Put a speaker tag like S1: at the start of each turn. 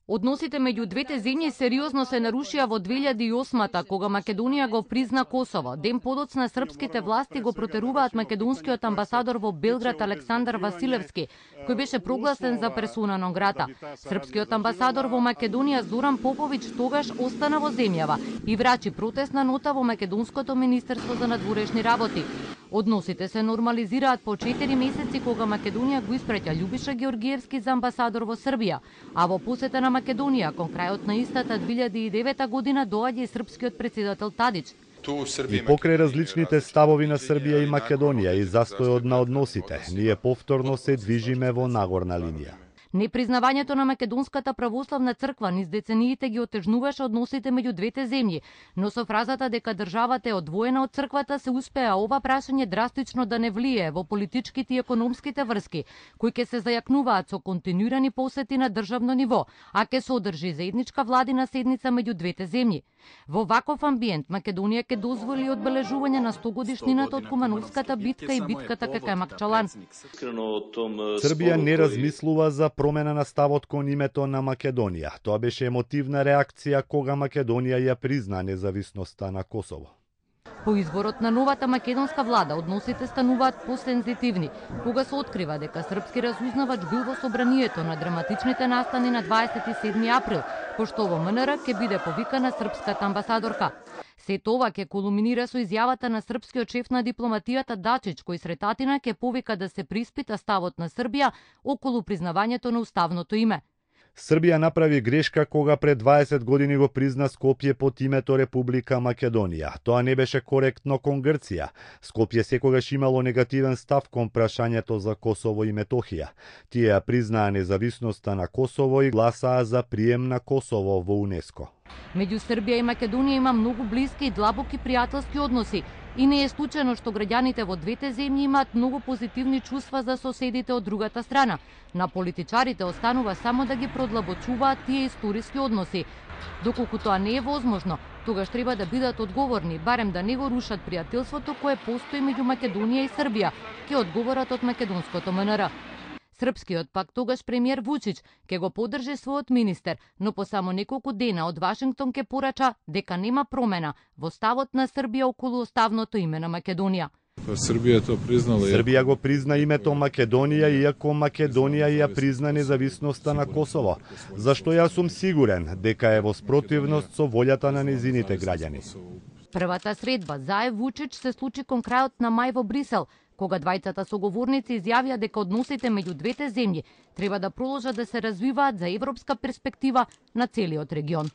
S1: Односите меѓу двете земји сериозно се нарушија во 2008-та, кога Македонија го призна Косово. Ден подоцна српските власти го протеруваат македонскиот амбасадор во Белград Александар Василевски, кој беше прогласен за персона нон грата. Српскиот амбасадор во Македонија Зоран Поповиќ тогаш остана во земјава и врачи протестна нота во Македонското министерство за надворешни работи. Односите се нормализираат по 4 месеци кога Македонија го испраќа Љубиша Георгиевски за амбасадор во Србија, а во посета на Македонија кон крајот на истата 2009 година доаѓа и српскиот председател Тадич.
S2: И покрај различните ставови на Србија и Македонија и застојот на односите, ние повторно се движиме во нагорна линија.
S1: Непризнавањето на Македонската православна црква низ децениите ги отежнуваше односите меѓу двете земји, но со фразата дека државата е одвоена од црквата се успеа ова прашање драстично да не влие во политичките и економските врски, кои ќе се зајакнуваат со континуирани посети на државно ниво, а ќе се одржи заедничка владина седница меѓу двете земји. Во ваков амбиент Македонија ќе дозволи одбележување на 100-годишнината од Кумановската битка и битката кај Камакчалан.
S2: Србија не размислува за промена на ставот кон името на Македонија. Тоа беше емотивна реакција кога Македонија ја призна независноста на Косово.
S1: По изборот на новата македонска влада односите стануваат посензитивни, кога се открива дека српски разузнавач бил во собранието на драматичните настани на 27 април, пошто во МНР ќе биде повикана српската амбасадорка. Сето ова ќе кулминира со изјавата на српскиот шеф на дипломатијата Дачич, кој сретатина ќе повика да се приспита ставот на Србија околу признавањето на уставното име.
S2: Србија направи грешка кога пред 20 години го призна Скопје под името Република Македонија. Тоа не беше коректно кон Грција. Скопје секогаш имало негативен став кон прашањето за Косово и Метохија. Тие ја признаа независноста на Косово и гласаа за прием на Косово во УНЕСКО.
S1: Меѓу Србија и Македонија има многу блиски и длабоки пријателски односи. И не е случајно што граѓаните во двете земји имаат многу позитивни чувства за соседите од другата страна. На политичарите останува само да ги продлабочуваат тие историски односи. Доколку тоа не е возможно, тогаш треба да бидат одговорни, барем да не го рушат пријателството кое постои меѓу Македонија и Србија, ќе одговорат од македонското МНР. Српскиот пак тогаш премиер Вучич ќе го поддржи својот министер, но по само неколку дена од Вашингтон ќе порача дека нема промена во ставот на Србија околу уставното име на Македонија.
S2: Србија го призна името Македонија, иако Македонија ја призна независноста на Косово, зашто јас сум сигурен дека е во спротивност со волјата на незините граѓани.
S1: Првата средба Заев Вучич се случи кон крајот на мај во Брисел, кога двајцата соговорници изјавија дека односите меѓу двете земји треба да продолжат да се развиваат за европска перспектива на целиот регион.